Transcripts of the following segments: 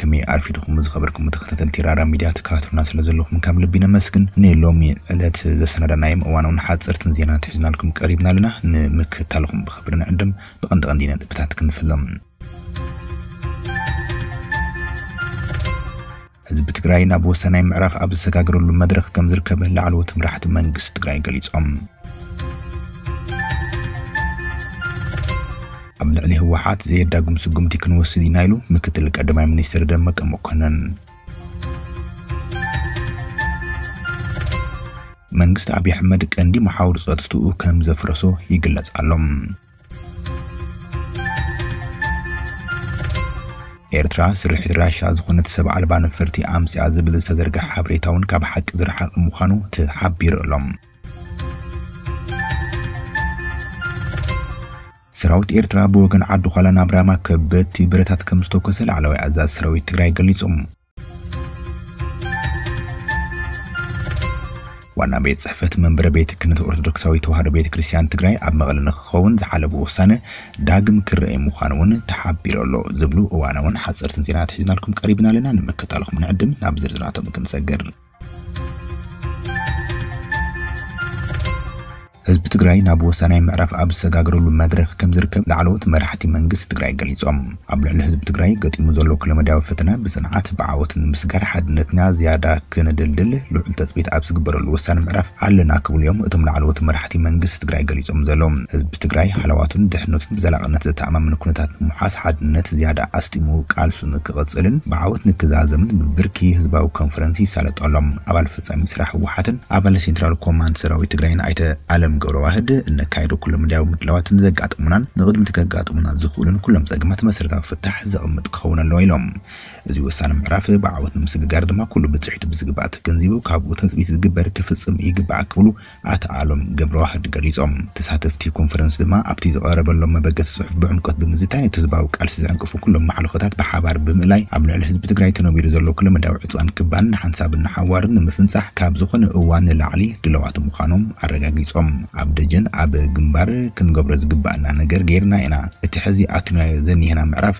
ከመይ ኣርፊድኩም ዝኸበርኩም ተኸታተልቲ ራራ ሚድያ? ትከታተሉና ስለ ዘለኹም ካብ ልቢ ነመስግን። ንሎሚ ዕለት ዘሰናዳናዮም እዋናውን ሓፀርትን ዜናታት ሒዝናልኩም ቀሪብና ኣለና። ንምክትታልኹም ብኽብሪ ንዕድም። ብቐንዲ ቀንዲ ነጥብታት ክንፍሎም። ህዝቢ ትግራይ ናብ ወሳናይ ምዕራፍ ኣብ ዝሰጋገረሉ መድረኽ ከም ዝርከብ ላዕለዎት መራሕቲ መንግስቲ ትግራይ ገሊጾም። ኣብ ልዕሊ ህወሓት ዘየዳግም ስጉምቲ ክንወስድ ኢና ኢሉ ምክትል ቀዳማይ ሚኒስትር ደመቀ መኮነን። መንግስቲ ኣብይ ኣሕመድ ቀንዲ መሓውር ጸጥትኡ ከም ዘፍረሶ ይግለጽ ኣሎ። ኤርትራ ስርሒት ራሻ ዝኾነት ሰብ ኣልባ ነፈርቲ ኣምጽኣ ዝብል ዝተዘርግሐ ሓበሬታ እውን ካብ ሓቂ ዝረሓቐ ምዃኑ ተሓቢሩ ኣሎ። ሰራዊት ኤርትራ ብወገን ዓዲ ዃላ ናብ ራማ ከበድቲ ብረታት ከም ዝተኮሰ ላዕለዋይ ኣዛዚ ሰራዊት ትግራይ ገሊጹ። ዋና ቤት ጽሕፈት መንበረ ቤተ ክህነት ኦርቶዶክሳዊት ተዋህዶ ቤተ ክርስቲያን ትግራይ ኣብ መቐለ ንክኸውን ዝሓለፉ ውሳነ ዳግም ክረኣይ ምዃኑ እውን ተሓቢሩ ኣሎ ዝብሉ እዋናውን ሓፀርትን ዜናታት ሒዝናልኩም ቀሪብና ኣለና። ንምክታልኩም ንዕድም ናብ ዝርዝራቶም ክንሰግር። ህዝቢ ትግራይ ናብ ወሳናይ ምዕራፍ ኣብ ዝሰጋገረሉ መድረኽ ከም ዝርከብ ላዕለዎት መራሕቲ መንግስቲ ትግራይ ገሊጾም። ኣብ ልዕሊ ህዝቢ ትግራይ ገጢሙ ዘሎ ኩለመዳያዊ ፈተና ብጽንዓት ብዓወት ንምስጋር ሓድነትና ዝያዳ ክንድልድል ልዑል ተጽቢት ኣብ ዝግበረሉ ወሳኒ ምዕራፍ ኣለና ክብሉ እዮም እቶም ላዕለዎት መራሕቲ መንግስቲ ትግራይ ገሊጾም ዘለዉ። ህዝቢ ትግራይ ሃለዋቱን ድሕነቱን ብዘላቕነት ዘተኣማምን ኩነታት ንምውሓስ ሓድነት ዝያዳ ኣስጢሙ ቃልሱ ንክቕጽልን ብዓወት ንክዛዘምን ብብርኪ ህዝባዊ ኮንፈረንስ ይሳለጦ ኣሎ። ኣባል ፈጻሚ ስራሕ ህወሓትን ኣባል ሴንትራል ኮማንድ ሰራዊት ትግራይን ኣይተ ኣለም ገብረዋህድ እነካየዶ ኩለመዳያዊ ምድላዋትን ዘጋጥሙናን ንቕድሚት ከጋጥሙና ዝኽእሉን ኩሎም ጸገማት መሰረታዊ ፍታሕ ዘቕምጥ ክኸውን ኣለዎ ኢሎም። እዚ ወሳኒ ምዕራፍ ብዓወት ንምስግጋር ድማ ኩሉ ብጽሒቱ ብዝግባእ ተገንዚቡ ካብኡ ተጽቢት ዝግበር ክፍጽም ይግባእ ክብሉ ኣቶ ኣሎም ገብረዋህድ ገሊጾም። ተሳተፍቲ ኮንፈረንስ ድማ ኣብቲ ዝቐረበሎም መበገሲ ጽሑፍ ብዕምቆት ብምዝታይ ነቲ ህዝባዊ ቃልሲ ዝዕንቅፉ ኩሎም ማሕለኾታት ብሓባር ብምእላይ ኣብ ልዕሊ ህዝቢ ትግራይ ተነቢሩ ዘሎ ኩለመዳያዊ ዕጽዋን ክባን ንሓንሳብን ንሓዋርን ንምፍንጻሕ ካብ ዝኾነ እዋን ንላዕሊ ድለዋት ምዃኖም ኣረጋጊጾም። ኣብ ደጀን ኣብ ግንባር ክንገብሮ ዝግባኣና ነገር ጌርና ኢና። እቲ ሕዚ ኣቲናዮ ዘኒሀና ምዕራፍ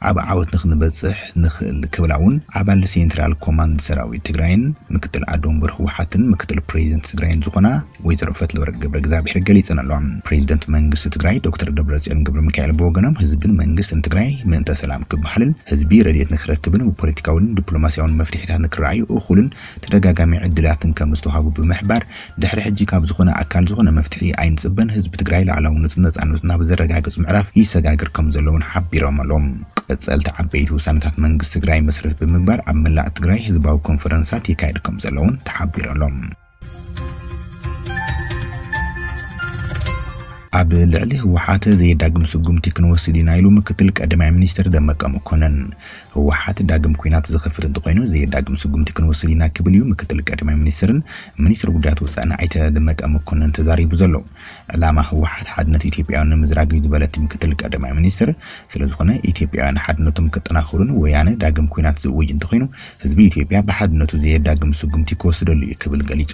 ኣብ ዓወት ንክንበጽሕ ንኽእል ክብላ እውን ኣባል ሴንትራል ኮማንድ ሰራዊት ትግራይን ምክትል ኣደ ወንበር ህወሓትን ምክትል ፕሬዚደንት ትግራይን ዝኾና ወይዘሮ ፈትለወርቅ ገብረ እግዚኣብሔር ገሊጸን ኣለዋ። ፕሬዚደንት መንግስቲ ትግራይ ዶክተር ደብረጽዮን ገብረ ሚካኤል ብወገኖም ህዝብን መንግስትን ትግራይ ምእንተ ሰላም ክበሃልን ህዝቢ ረድኤት ንክረክብን ብፖለቲካውን ዲፕሎማሲያውን መፍትሒታት ንክረኣዩ እኹልን ተደጋጋሚ ዕድላትን ከም ዝተዋሃቡ ብምሕባር ድሕሪ ሕጂ ካብ ዝኾነ ኣካል ዝኾነ መፍትሒ ኣይንጽበን፣ ህዝቢ ትግራይ ላዕላውነቱን ነጻነቱን ናብ ዘረጋግጽ ምዕራፍ ይሰጋግር ከም ዘለውን ሓቢሮም ኣለዉ። ቀጸልቲ ዓበይቲ ውሳነታት መንግስቲ ትግራይ መሰረት ብምግባር ኣብ መላእ ትግራይ ህዝባዊ ኮንፈረንሳት ይካየድ ከም ዘለውን ተሓቢሩ ኣሎ። ኣብ ልዕሊ ህወሓት ዘየዳግም ስጉምቲ ክንወስድ ኢና ኢሉ ምክትል ቀዳማይ ሚኒስትር ደመቀ መኮነን። ህወሓት ዳግም ኲናት ዝኸፍት እንተኾይኑ ዘየዳግም ስጉምቲ ክንወስድ ኢና ክብል እዩ ምክትል ቀዳማይ ሚኒስትርን ሚኒስትር ጉዳያት ወፃኢ ኣይተ ደመቀ መኮነን ተዛሪቡ ዘሎ። ዕላማ ህወሓት ሓድነት ኢትዮጵያውያን ንምዝራግ እዩ ዝበለ እቲ ምክትል ቀዳማይ ሚኒስትር፣ ስለ ዝኾነ ኢትዮጵያውያን ሓድነቶም ከጠናኽሩን ወያነ ዳግም ኲናት ዝእውጅ እንተኾይኑ ህዝቢ ኢትዮጵያ ብሓድነቱ ዘየዳግም ስጉምቲ ክወስደሉ እዩ ክብል ገሊጹ።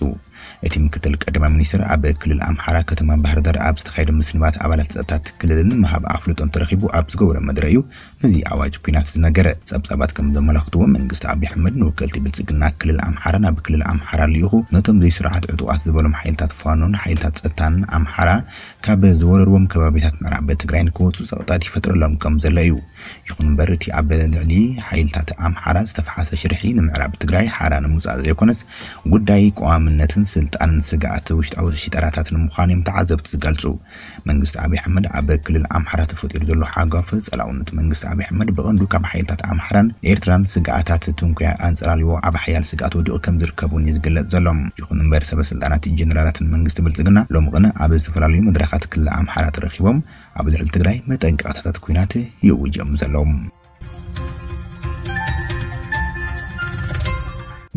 እቲ ምክትል ቀዳማይ ሚኒስትር ኣብ ክልል ኣምሓራ ከተማ ባህር ዳር ኣብ ዝተኻየደ ምስንባት ኣባላት ጸጥታ እቲ ክልልን ምሃብ ኣፍልጦን ተረኺቡ ኣብ ዝገበሮ መደረ እዩ ነዚ ኣዋጅ ኲናት ዝነገረ። ጸብጻባት ከም ዘመላኽትዎ መንግስቲ ኣብይ ኣሕመድ ንወከልቲ ብልጽግና ክልል ኣምሓራ ናብ ክልል ኣምሓራ ልኢኹ ነቶም ዘይስርዓት ዕጡቓት ዝበሎም ሓይልታት ፋኖን ሓይልታት ጸጥታን ኣምሓራ ካብ ዝወረርዎም ከባቢታት ምዕራብ ትግራይ ንክወፁ ጸቕጣት ይፈጥረሎም ከም ዘሎ እዩ። ይኹን እምበር እቲ ኣብ ልዕሊ ሓይልታት ኣምሓራ ዝተፈሓሰ ሽርሒ ንምዕራብ ትግራይ ሓራ ንምውፃእ ዘይኮነስ ጉዳይ ቀዋምነትን ስልጣንን ስግኣት ውሽጣዊ ሽጠራታት ንምዃኑ እዮም ተዓዘብቲ ዝገልፁ። መንግስቲ ኣብይ ኣሕመድ ኣብ ክልል ኣምሓራ ተፈጢሩ ዘሎ ሓጓፍ ጸላውነት መንግስቲ ኣብይ ኣሕመድ ብቐንዱ ካብ ሓይልታት ኣምሓራን ኤርትራን ስግኣታት ትንኩያ ኣንጸላልዎ ኣብ ሓያል ስግኣት ወዲቑ ከም ዝርከብ እውን እዩ ዝግለጽ ዘሎ። ይኹን እምበር ሰበ ስልጣናትን ጀነራላትን መንግስቲ ብልጽግና ሎሚ ቅነ ኣብ ዝተፈላለዩ መድረኻት ክልል ኣምሓራ ተረኺቦም ኣብ ልዕሊ ትግራይ መጠንቀቕታታት ኲናት ይእውጅ እዮም ዘለዉ።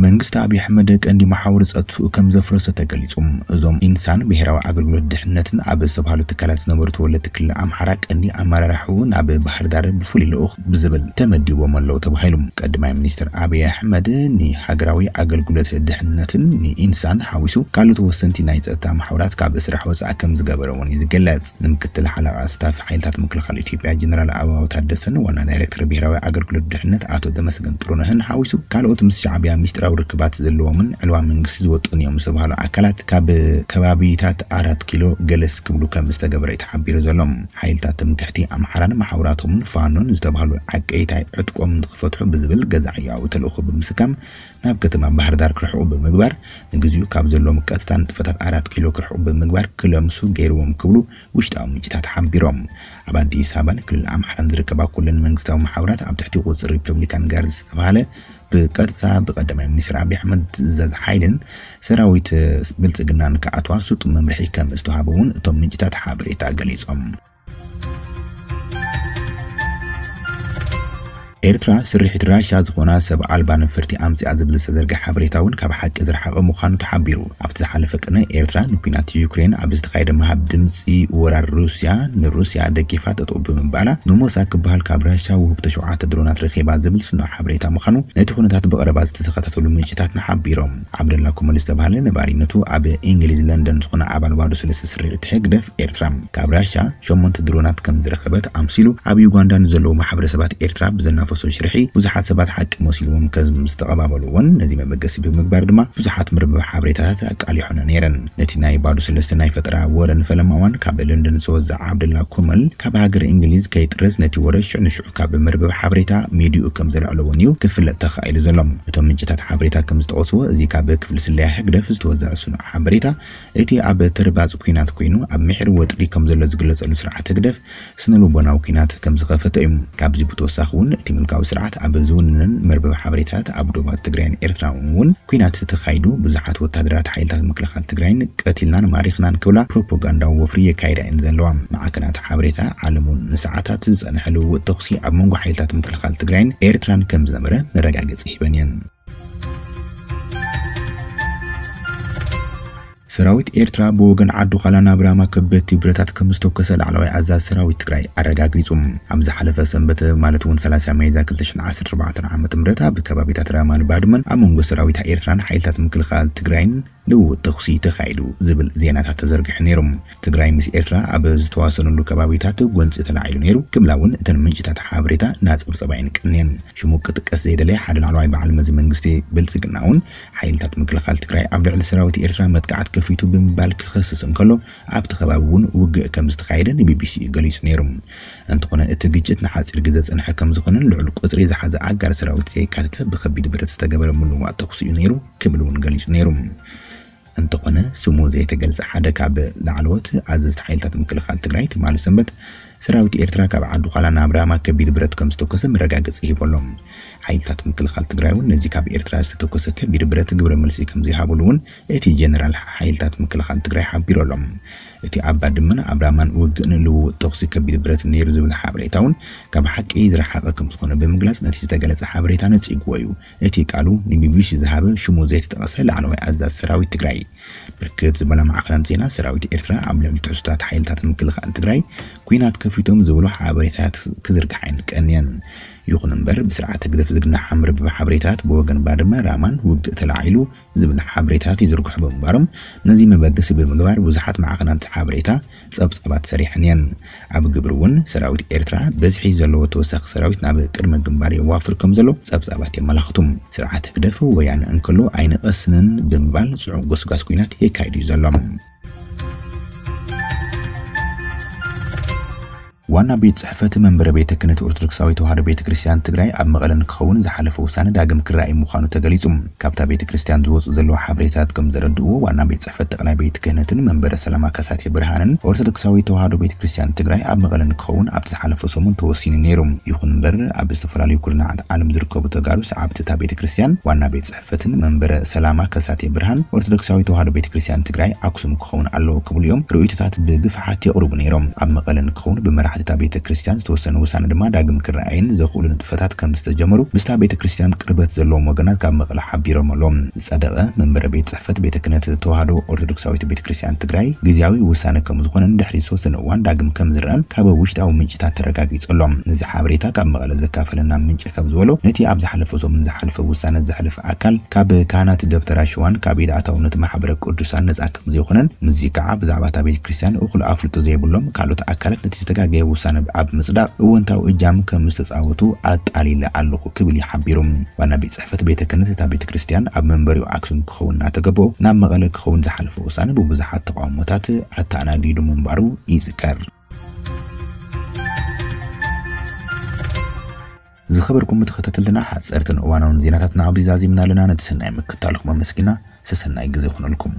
መንግስቲ ኣብይ ኣሕመድ ቀንዲ መሓውር ጸጥትኡ ከም ዘፍረሰ ተገሊጹ። እዞም ኢንሳን ብሄራዊ ኣገልግሎት ድሕነትን ኣብ ዝተባህሉ ትካላት ዝነበሩ ተወለድቲ ክልል ኣምሓራ ቀንዲ ኣመራርሓኡ ናብ ባህር ዳር ብፍሉይ ልኡኽ ብዝብል ተመዲቦም ኣለዉ ተባሂሉ። ቀዳማይ ሚኒስትር ኣብይ ኣሕመድ ንሃገራዊ ኣገልግሎት ድሕነትን ንኢንሳን ሓዊሱ ካልኦት ወሰንቲ ናይ ጸጥታ መሓውራት ካብ ስራሕ ወጻኢ ከም ዝገበረ እውን እዩ ዝገለጽ። ንምክትል ሓለቓ ስታፍ ሓይልታት ምክልኻል ኢትዮጵያ ጀነራል ኣበባው ታደሰን ዋና ዳይሬክተር ብሄራዊ ኣገልግሎት ድሕነት ኣቶ ተመስገን ጥሩነህን ሓዊሱ ካልኦት ምስ ሻዕቢያ ሚስጥራዊ ርክባት ዘለዎምን ዕልዋ መንግስቲ ዝወጥኑ እዮም ዝተባህሉ ኣካላት ካብ ከባቢታት ኣራት ኪሎ ገለስ ክብሉ ከም ዝተገበረ እዩ ተሓቢሩ ዘሎ። ሓይልታት ትምክሕቲ ኣምሓራን መሓውራቶምን ፋኖን ዝተባህሉ ዓቀይታይ ዕጥቆም ንክፈትሑ ብዝብል ገዛዕያዊ ተልእኾ ብምስካም ናብ ከተማ ባህር ዳር ክርሕቑ ብምግባር ንግዚኡ ካብ ዘለዎም ቀጥታ ንጥፈታት ኣራት ኪሎ ክርሕቑ ብምግባር ክለምሱ ገይርዎም ክብሉ ውሽጣዊ ምንጭታት ሓቢሮም። ኣብ ኣዲስ ኣበባን ክልል ኣምሓራን ዝርከባ ኩለን መንግስታዊ መሓውራት ኣብ ትሕቲ ቁፅሪ ሪፐብሊካን ጋርድ ዝተባህለ ብቀጥታ ብቀዳማይ ሚኒስትር ኣብይ ኣሕመድ ትእዛዝ ሓይልን ሰራዊት ብልፅግናን ክኣትዋ ስጡም መምርሒ ከም ዝተዋሃበ እውን እቶም ምንጭታት ሓበሬታ ገሊፆም። ኤርትራ ስርሒት ራሻ ዝኾና ሰብ ኣልባ ነፈርቲ ኣምጺኣ ዝብል ዝተዘርግሐ ሓበሬታ እውን ካብ ሓቂ ዝረሓቐ ምዃኑ ተሓቢሩ። ኣብቲ ዝሓለፈ ቅነ ኤርትራ ንኲናት ዩክሬን ኣብ ዝተኻየደ ምሃብ ድምጺ ወራር ሩስያ ንሩስያ ደጊፋ ጠጠው ብምባላ ንሞሳ ክበሃል ካብ ራሻ ውህብቶ ሸውዓተ ድሮናት ረኺባ ዝብል ስኑዕ ሓበሬታ ምዃኑ ነቲ ኩነታት ብቐረባ ዝተኸታተሉ ምንጭታትና ሓቢሮም። ዓብደላ ኩመል ዝተባህለ ነባሪነቱ ኣብ እንግሊዝ ለንደን ዝኾነ ኣባል ባዶ ሰለስተ ስርሒት ህግደፍ ኤርትራ ካብ ራሻ ሸሞንተ ድሮናት ከም ዝረኸበት ኣምሲሉ ኣብ ዩጋንዳ ንዘለዉ ማሕበረሰባት ኤርትራ ብዘናፈሶ ሽርሒ ብዙሓት ሰባት ሓቂ መሲልዎም ከም ዝተቐባበልዎን ነዚ መበገሲ ብምግባር ድማ ብዙሓት መርበብ ሓበሬታታት ኣቃሊሖን ነይረን። ነቲ ናይ ባዶ ሰለስተ ናይ ፈጠራ ወረ ንፈለማ እዋን ካብ ለንደን ዝተወዘዐ ዓብደላ ኩመል ካብ ሃገር እንግሊዝ ከይጥረዝ ነቲ ወረ ሽዑ ንሽዑ ካብ መርበብ ሓበሬታ ሚድኡ ከም ዘልዕለዎን እዩ ክፍለጥ ተኻኢሉ ዘሎ። እቶም ምንጭታት ሓበሬታ ከም ዝጠቐስዎ እዚ ካብ ክፍሊ ስለያ ህግደፍ ዝተወዘዐ ስኑዕ ሓበሬታ እቲ ኣብ ተርባጽ ኲናት ኮይኑ ኣብ ምሒር ወጥሪ ከም ዘሎ ዝግለጸሉ ስርዓት ህግደፍ ስነ ልቦናዊ ኲናት ከም ዝኸፈተ እዩ። ካብዚ ብተወሳኺ እውን እቲ ምልካዊ ስርዓት ኣብ ዝውንነን መርበብ ሓበሬታት ኣብ ዶባት ትግራይን ኤርትራን እውን ኲናት ተኻይዱ ብዙሓት ወታደራት ሓይልታት ምክልኻል ትግራይን ቀቲልናን ማሪኽናን ክብላ ፕሮፓጋንዳዊ ወፍሪ የካይዳ እየን ዘለዋ። ማዕከናት ሓበሬታ ዓለም እውን ንሰዓታት ዝጸንሐ ልውውጥ ተኹሲ ኣብ መንጎ ሓይልታት ምክልኻል ትግራይን ኤርትራን ከም ዝነበረ መረጋገጺ ሂበን እየን። ሰራዊት ኤርትራ ብወገን ዓዱ ኻላ ናብ ራማ ከበድቲ ብረታት ከም ዝተኮሰ ላዕለዋይ ኣዛዚ ሰራዊት ትግራይ ኣረጋጊጹ። ኣብ ዝሓለፈ ሰንበት ማለት እውን ሰላሳ ሚያዝያ ክልተ ሽሕን ዓሰርተ ኣርባዕተን ዓመተ ምህረት ኣብ ከባቢታት ራማን ባድመን ኣብ መንጎ ሰራዊት ኤርትራን ሓይልታት ምክልኻል ትግራይን ልውውጥ ተኹሲ ተኻይዱ ዝብል ዜናታት ተዘርጊሑ ነይሩ። ትግራይ ምስ ኤርትራ ኣብ ዝተዋሰኑሉ ከባቢታት ጎንፂ ተላዒሉ ነይሩ ክብላ እውን እተን ምንጭታት ሓበሬታ እናፀብፀባ እየን ቀንየን። ሽሙ ክጥቀስ ዘይደለየ ሓደ ላዕለዋይ በዓል መዚ መንግስቲ ብልፅግና እውን ሓይልታት ምክልኻል ትግራይ ኣብ ልዕሊ ሰራዊት ኤርትራ መጥቃዕት ከፊቱ ብምባል ክኸስስ እንከሎ ኣብቲ ከባቢ እውን ውግእ ከም ዝተኻየደ ንቢቢሲ ገሊጹ ነይሩ። እንተኾነ እቲ ግጭት ንሓፂር ግዜ ዝጸንሐ ከም ዝኾነን ልዑል ቁጽሪ ዝሓዘ ኣጋር ሰራዊት ዘየካተተ ብኸቢድ ብረት ዝተገበረ ምልውዋጥ ተኹሲ እዩ ነይሩ ክብል እውን ገሊጹ ነይሩ። እንተኾነ ስሙ ዘይተገልጸ ሓደ ካብ ላዕለዎት ኣዘዝቲ ሓይልታት ምክልኻል ትግራይ ትማሊ ሰንበት ሰራዊት ኤርትራ ካብ ዓዲ ዃላ ናብ ራማ ከቢድ ብረት ከም ዝተኮሰ መረጋገጺ ሂቡ ኣሎ። ሓይልታት ምክልኻል ትግራይ እውን ነዚ ካብ ኤርትራ ዝተተኮሰ ከቢድ ብረት ግብረ መልሲ ከም ዘይሃብሉ እውን እቲ ጀነራል ሓይልታት ምክልኻል ትግራይ ሓቢሩ ኣሎ። እቲ ኣብ ባድመን ኣብ ራማን ውግእን ልውውጥ ተኹሲ ከቢድ ብረት ነይሩ ዝብል ሓበሬታ እውን ካብ ሓቂ ዝረሓቐ ከም ዝኾነ ብምግላጽ ነቲ ዝተገለጸ ሓበሬታ ነጺግዎ እዩ። እቲ ቃሉ ንቢቢሲ ዝሃበ ሽሙ ዘይተጠቐሰ ላዕለዋይ ኣዛዚ ሰራዊት ትግራይ ብርክት ዝበላ ማዕኸናት ዜና ሰራዊት ኤርትራ ኣብ ልዕሊ ትሕዝቶታት ሓይልታት ምክልኻል ትግራይ ኲናት ከፊቶም ዝብሉ ሓበሬታታት ክዝርግሓ እየን ቀንየን። ይኹን እምበር ብስርዓት ህግደፍ ዝግናሕ መርበብ ሓበሬታታት ብወገን ባድመ ራማን ውግእ ተላዒሉ ዝብል ሓበሬታታት ይዝርግሑ ብምንባሮም ነዚ መበገሲ ብምግባር ብዙሓት ማዕኸናት ሓበሬታ ጸብጻባት ሰሪሐን እየን። ኣብ ግብሪ እውን ሰራዊት ኤርትራ በዝሒ ዘለዎ ተወሳኺ ሰራዊት ናብ ቅድመ ግንባር የዋፍር ከም ዘሎ ጸብጻባት የመላኽቱ። ስርዓት ህግደፍ ወያነ እንከሎ ኣይንቐስንን ብምባል ጽዑቕ ጎስጓስ ኲናት የካይድ እዩ ዘሎ። ዋና ቤት ጽሕፈት መንበረ ቤተ ክህነት ኦርቶዶክሳዊ ተዋህዶ ቤተ ክርስቲያን ትግራይ ኣብ መቐለ ንክኸውን ዝሓለፈ ውሳነ ዳግም ክረኣይ ምዃኑ ተገሊጹ። ካብታ ቤተ ክርስቲያን ዝወጹ ዘለዉ ሓበሬታታት ከም ዘረድእዎ ዋና ቤት ጽሕፈት ጠቕላይ ቤት ክህነትን መንበረ ሰላማ ከሳቴ ብርሃንን ኦርቶዶክሳዊ ተዋህዶ ቤተ ክርስቲያን ትግራይ ኣብ መቐለ ንክኸውን ኣብቲ ዝሓለፈ ሰሙን ተወሲኑ ነይሩ። ይኹን እምበር ኣብ ዝተፈላለዩ ኩርናዓት ዓለም ዝርከቡ ተጋሩ ሰዓብቲ እታ ቤተ ክርስቲያን ዋና ቤት ጽሕፈትን መንበረ ሰላማ ከሳቴ ብርሃን ኦርቶዶክሳዊ ተዋህዶ ቤተ ክርስቲያን ትግራይ ኣክሱም ክኸውን ኣለዎ ክብሉ እዮም ርእይቶታት ብግፍሓት የቕርቡ ነይሮም። ኣብ መቐለ ንክኸውን ብመራሕቲ እታ ቤተ ክርስቲያን ዝተወሰነ ውሳነ ድማ ዳግም ክረኣይን ዘኽእሉ ንጥፈታት ከም ዝተጀመሩ ምስታ ቤተ ክርስቲያን ቅርበት ዘለዎም ወገናት ካብ መቐለ ሓቢሮም ኣለዉ። ዝጸደቐ መንበረ ቤት ጽሕፈት ቤተ ክህነት ተዋህዶ ኦርቶዶክሳዊት ቤተ ክርስቲያን ትግራይ ግዝያዊ ውሳነ ከም ዝኾነን ድሕሪ ዝተወሰነ እዋን ዳግም ከም ዝረኣን ካብ ውሽጣዊ ምንጭታት ተረጋጊጹ ኣሎ። ነዚ ሓበሬታ ካብ መቐለ ዘካፈለና ምንጭ ከም ዝበሎ፣ ነቲ ኣብ ዝሓለፈ ሰሙን ዝሓለፈ ውሳነ ዘሕለፈ ኣካል ካብ ካህናት ደብተራ ሽዋን ካብ ኢድ ኣታውነት ማሕበረ ቅዱሳን ነጻ ከም ዘይኮነን፣ ምስዚ ከዓ ብዛዕባ እታ ቤተ ክርስቲያን እኹል ኣፍልጦ ዘይብሎም ካልኦት ኣካላት ነቲ ዝተጋገየ ውሳነ ኣብ ምጽዳቕ እወንታዊ እጃም ከም ዝተጻወቱ ኣጣሊለ ኣለኹ ክብል እዩ ሓቢሩ። ዋና ቤት ጽሕፈት ቤተ ክህነት እታ ቤተ ክርስቲያን ኣብ መንበሪኡ ኣክሱም ክኸውን እናተገበኦ ናብ መቐለ ክኸውን ዝሓለፈ ውሳነ ብብዙሓት ተቃውሞታት ኣተኣናጊዱ ምንባሩ ይዝከር። ዝኸበርኩም ተኸታተልትና፣ ሓጸርትን እዋናውን ዜናታትና ኣብዚ ዛዚምና ኣለና። ነቲ ሰናይ ምክታልኩም ኣመስጊና፣ ሰሰናይ ግዜ ይኹነልኩም።